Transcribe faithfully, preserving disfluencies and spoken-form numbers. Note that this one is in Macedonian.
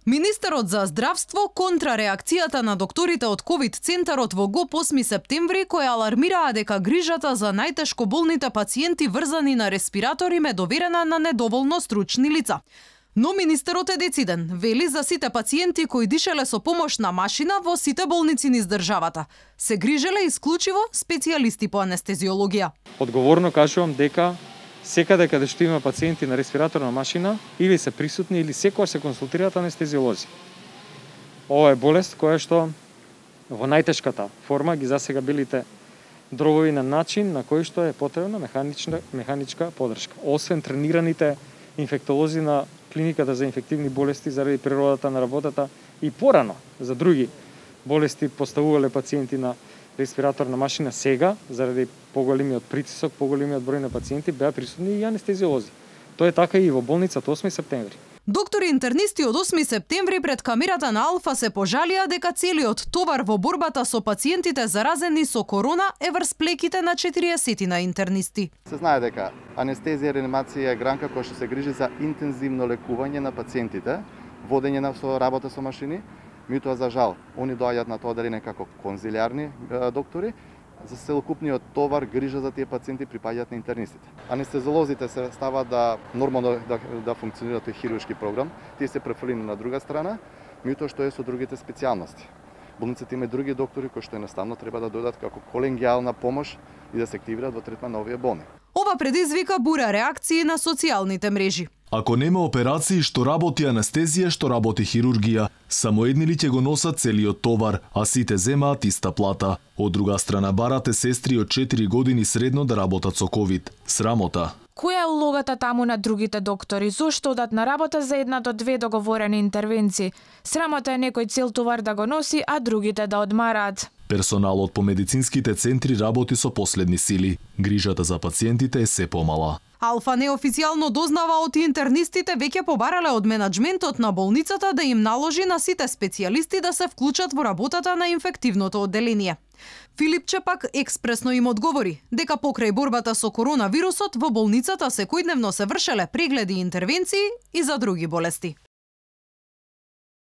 Министерот за здравство контра реакцијата на докторите од ковид центарот во ГОП осми септември, кои алармираа дека грижата за најтешко болните пациенти врзани на респиратори ме доверена на недоволно стручни лица. Но министерот е дециден, вели за сите пациенти кои дишеле со помош на машина во сите болници низ државата. Се грижеле исклучиво специјалисти по анестезиологија. Одговорно кажувам дека секаде каде што има пациенти на респираторна машина, или се присутни или секогаш се консултираат анестезиолози. Ова е болест која што во најтешката форма ги засега белите дробови на начин на кој што е потребна механична механичка поддршка. Освен тренираните инфектолози на клиниката за инфективни болести заради природата на работата и порано за други болести поставувале пациенти на респираторна машина, сега заради поголемиот притисок, поголемиот број на пациенти беа присутни и анестезиолози. Тоа е така и во болницата осми септември. Доктори интернисти од осми септември пред камерата на Алфа се пожалија дека целиот товар во борбата со пациентите заразени со корона е врз плеките на четириесетина интернисти. Се знае дека анестезија и реанимација е гранка која што се грижи за интензивно лекување на пациентите, водење на со работа со машини. Меѓутоа, за жал, они доаѓаат на тоа одделение како конзилиарни доктори, за целокупниот товар грижа за тие пациенти припаѓаат на интернистите. Анестезиолозите се ставаат да нормално да, да функционираат тој хируршки програм, тие се префрлени на друга страна, меѓутоа што е со другите специјалности. Болниците има други доктори кои што едноставно треба да дојдат како колегијална помош и да се активираат во третман на овие болни. Ова предизвика бура реакции на социјалните мрежи. Ако нема операции, што работи анестезија, што работи хирургија, само едни ли ќе го носат целиот товар, а сите земаат иста плата. Од друга страна, барате сестри од четири години средно да работат со ковид. Срамота. Која е улогата таму на другите доктори? Зошто одат на работа за една до две договорени интервенции? Срамота е некој цел товар да го носи, а другите да одмараат. Персоналот по медицинските центри работи со последни сили. Грижата за пациентите е се помала. Алфа неофицијално дознава од интернистите веќе побарале од менаџментот на болницата да им наложи на сите специјалисти да се вклучат во работата на инфективното одделение. Филипче пак експресно им одговори дека покрај борбата со коронавирусот во болницата секојдневно се вршеле прегледи и интервенции и за други болести.